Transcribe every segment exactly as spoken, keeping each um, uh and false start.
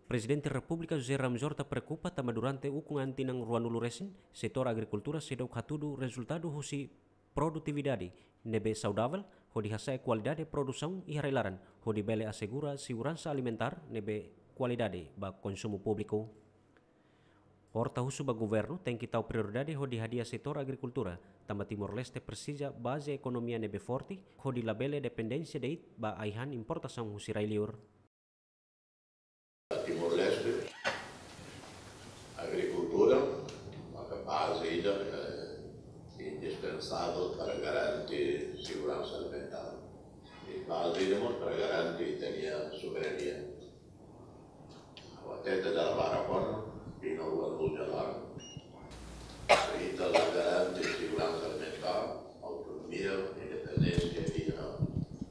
Prezidente Repúblika José Ramos Horta preokupa tanba durante ukun an tinan ruanulu resin, setór agrikultura seidauk hatudu rezultadu husi produtividade ne'ebé saudavel, hodi hasa'e kualidade produsaun iha rai-laran, hodi bele asegura seguransa alimentár ne'ebé kualidade ba konsumu públiku. Horta husu ba governu tenke tau prioridade hodi hadi'a setór agrikultura, tanba Timor-Leste presiza baze ekonomia ne'ebé forte, hodi labele dependénsia de'it ba ai-han importasaun husi rai-liur. Timor-Leste, agrikultura maka baze ida, eh, indispensável para garante seguransa alimentár. I baze ida mós para garante ita-nia soberania. Ha'u hatete dala barak ona, tinan ruanulu nia laran, se ita la garante seguransa alimentár, autonomia, independénsia iha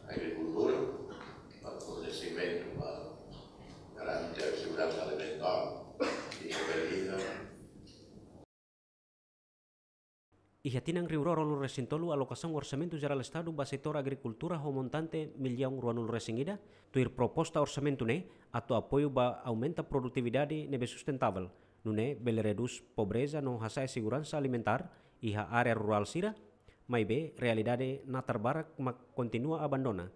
agrikultura, ba fornesimentu, ba garante seguransa alimentár, i bele iha. Iha tinan rihun rua ruanulu resin tolu, alokasaun Orsamentu Jerál Estadu ba setór agrikultura ho montante millaun ruanulu resin ida, tuir proposta orsamentu ne'e atu apoiu ba aumenta produtividade ne'ebé sustentável, nune'e bele redús pobreza no hasa'e seguransa alimentár iha área rurál sira, maibé realidade natar barak mak kontinua abandona,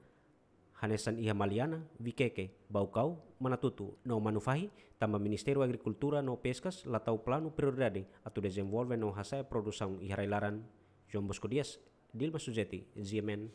hanesan iha Maliana, Vikeke, Baucau, Manatuto no Manufahi, tanba Ministériu Agrikultura no Peskas la tau planu prioridade atu dezenvolve no hasa'e produsaun iha rai-laran. João Bosco Dias, Dilma Suzeti, G M N.